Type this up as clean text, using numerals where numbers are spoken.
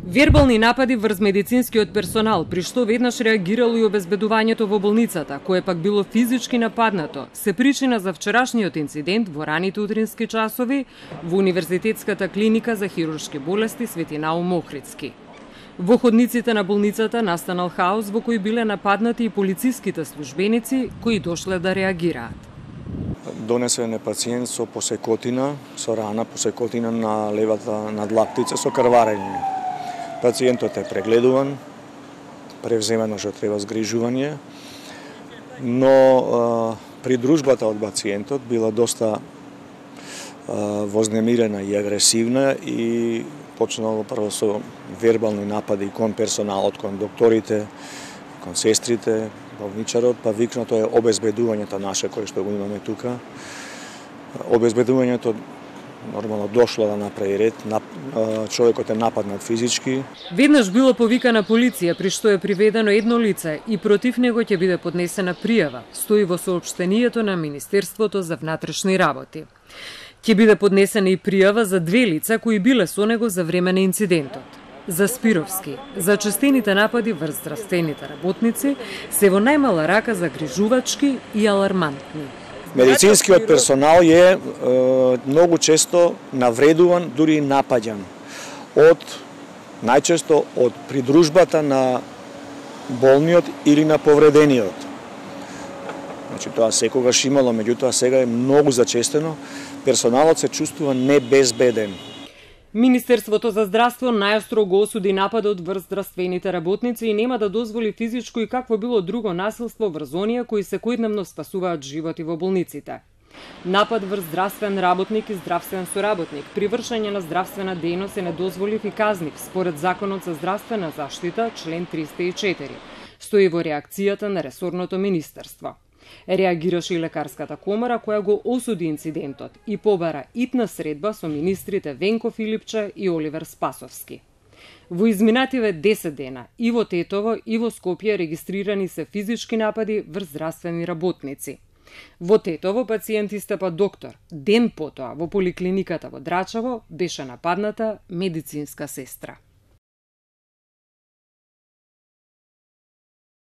Вербални напади врз медицинскиот персонал, при што веднаш реагирало и обезбедувањето во болницата, кое пак било физички нападнато, се причина за вчерашниот инцидент во раните утрински часови во Универзитетската клиника за хируршки болести Свети Наум Охридски. Во ходниците на болницата настанал хаос во кој биле нападнати и полициските службеници кои дошле да реагираат. Донесен е пациент со посекотина, со рана посекотина на левата надлактица со крварење. Пациентот е прегледуван, превземено што треба згрижување, но придружбата од пациентот била доста вознемирена и агресивна и почнало прво со вербални напади кон персоналот, кон докторите, кон сестрите, болничарот, па викнато е обезбедувањето наше кое што го имаме тука. Обезбедувањето нормално дошло да направи ред, човекот е нападнат физички. Веднаш било повикана полиција, при што е приведено едно лице и против него ќе биде поднесена пријава, стои во соопштението на Министерството за внатрешни работи. Ќе биде поднесена и пријава за две лица кои биле со него за време на инцидентот. За Спировски, за честените напади врз здравствените работници, се во најмала рака загрижувачки и алармантни. Медицинскиот персонал е многу често навредуван, дури и напаѓан најчесто од придружбата на болниот или на повредениот. Значи тоа секогаш имало, меѓутоа сега е многу зачестено. Персоналот се чувствува небезбеден. Министерството за здравство најостро го осуди нападот врз здравствените работници и нема да дозволи физичко и какво било друго насилство врз оние кои секојдневно спасуваат животи во болниците. Напад врз здравствен работник и здравствен соработник при вршење на здравствена дејност е недозволив и казнив според Законот за здравствена заштита, член 304. Стои во реакцијата на ресорното министерство. Реагираше и лекарската комора која го осуди инцидентот и побара итна средба со министрите Венко Филипче и Оливер Спасовски. Во изминативе 10 дена и во Тетово и во Скопје регистрирани се физички напади врз здравствени работници. Во Тетово пациент истепа доктор, ден потоа во поликлиниката во Драчево беше нападната медицинска сестра.